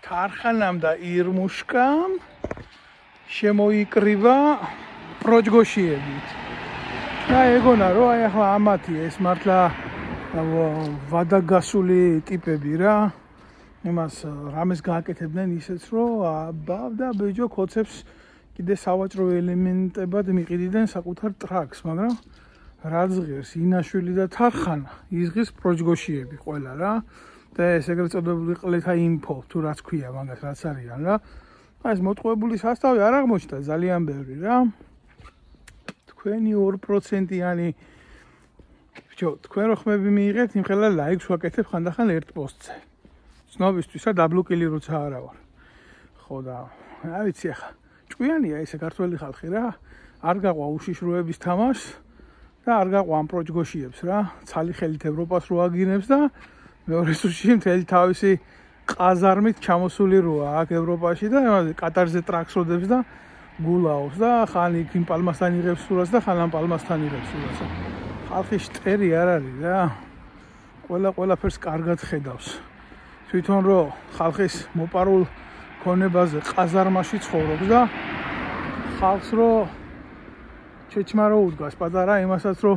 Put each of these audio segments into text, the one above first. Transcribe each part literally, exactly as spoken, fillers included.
თარხანამ და ირმუშკამ შემოიკრიბა პროჯგოშიებით. და ეგონა რომ აი ახლა ამათი ეს მართლა ვადაგასული ტიპები რა. იმას რამეს გააკეთებდნენ ისეც რომ აბა ბეჯო კოცებს კიდე სავაჭრო ელემენტებად მიყიდდნენ საკუთარ ტრაქს, მაგრამ რაც ღირს ინაშვილი და თარხანა იზღის პროჯგოშიები ყველა რა. და ეს ეგრეთ წოდებული ყლეთა ინფო თუ რაც ქვია მაგას რაც არიან რა. ეს მოტყუებული სასტავი არ აღმოჩნდა ძალიან ბევრი რა. თქვენი ორი პროცენტიანი ბიჭო, თქვენ რო ხმები მიიღეთ, იმხელა ლაიქს ვაკეთებ ხანდახან ერთ პოსტზე. ცნობისთვის რა დაბლოკილი როცა არა ვარ. ხო და რა ვიცი ახლა ჭკვიანია ესე ქართველი ხალხი რა. არ გაყვა უშიშროების თამაშს და არ გაყვა ამ პროჯგოშიებს რა. ცალი ხელით ევროპას რო აგინებს და მეორე სულში მთელი თავისი ყაზარმით ჩამოსული როა აქ ევროპაში და კატარზე ტრაქს როდებს და გულაობს და ხან იქ იმ პალმასთან იღებს სურათს და ხან ამ პალმასთან იღებს სურათს. ხალხი შტერი არ არის რა. ყველა ყველაფერს კარგად ხედავს. თვითონ რომ ხალხის მოპარულ ქონებაზე ყაზარმაში ცხოვრობს და ხალხს რომ ჩეჩმა რო უდგას პატარა იმასაც რომ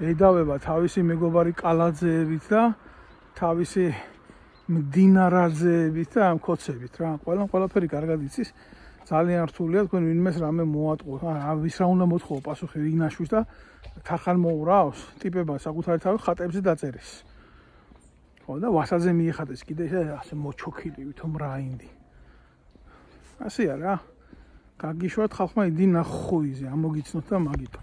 ედავება თავისი მეგობარი კალაძეებით და თავისი მდინარაძეებით და ამ კოცებით რა. ყველა ყველაფერი კარგად იცის. ძალიან რთულია თქვენ ვინმეს რამე მოატყუოთ. აა ვის რა უნდა მოთხოვო პასუხი ინაშვის და თარხან მოურავს ტიპება საკუთარი თავი ხატებზე დაწერის. ხო და ვასაძე მიეხატეს კიდე ასე მოჩოქილი ვითომ რაინდი. ასეა რა. გაგიშვათ ხალხმა იდი ნახოიზე ამოგიცნოთ და მაგითო.